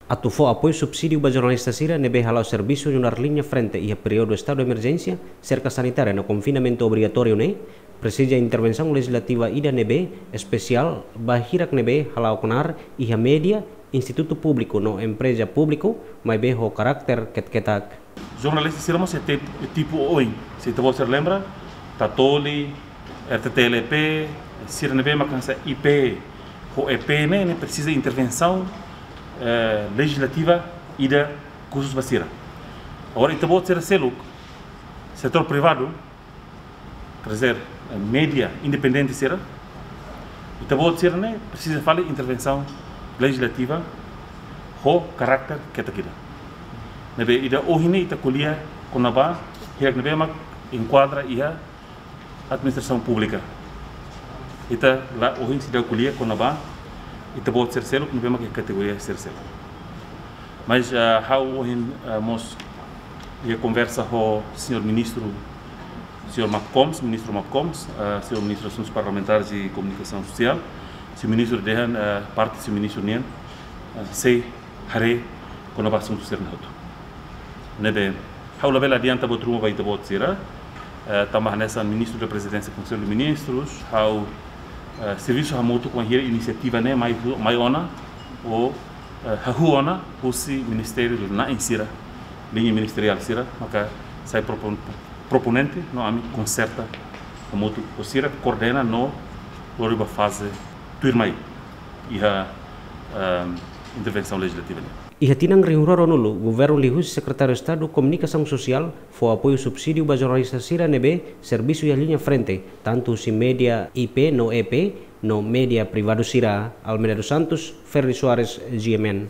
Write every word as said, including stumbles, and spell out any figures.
Atu fó apoiu subsídiu ba jornalista sira ne'ebé hala'o servisu nu'udar liña frente iha períodu estadu emerjénsia, serka sanitária no konfinamentu obrigatóriu ne'e, presiza intervensaun lejislativa ida ne'ebé espesiál ba hirak ne'ebé hala'o knaar iha média, institutu públiku no empreza públiku, maibé ho karakter ketak-ketak. Jornalista sira mós iha tip-, tipu oin. Se ita-boot sira lembra, Tatoli, R T T L E P, sira ne'ebé mak hanesan I P ho E P ne'e, ne'e presiza intervensaun, eh, lejislativa ida khusus ba sira. Agora, ita-boot sira seluk, setór privadu, quer dizer, eh, média independente sira, ita-boot sira ne'e presiza fali intervensaun lejislativa ho karakter ketak ida. Ne'ebé ida ohin ne'e ita ko'alia kona-ba hirak ne'ebé mak enkuadra iha administrasaun públika. Ita la ohin seidauk ko'alia kona-ba ita-boot sira seluk ne'ebé mak iha kategoria sira seluk. Mas, ah, ha'u ohin, ah, mós iha konversa ho señór ministru, señór Macomes, ministru Macomes, ah, señór ministru Asuntus Parlamentares e Komunikasaun Sosiál, señór ministru dehan, ah, parte señór ministru nian, ah, sei haree kona-ba asuntu sira-ne'e hotu. Ne'ebé, ha'u labele adianta buat ruma ba ita-boot sira, eh, tanba hanesan ministru da Prezidénsia Konsellu de Ministrus, ha'u, eh, servisu hamutuk wainhira inisiativa ne'e mai hu-, mai ona, ou, eh, hahú ona, husi ministériu na'in sira, liña ministeriál sira, maka sai propon-, proponente, no ami konserta hamutuk ho sira, koordena no lori ba faze tuirmai iha, ehm, intervensaun lejislativa ne'e. Iha tinan rihun rua ruanulu, governu liuhusi Sekretáriu Estadu Komunikasaun Sosiál fó apoiu subsídiu ba jornalista sira ne'ebé servisu iha liña frente, tantu husi média I P no E P, no média privadu sira. Almeida dos Santos, Ferdi Soares, G M N.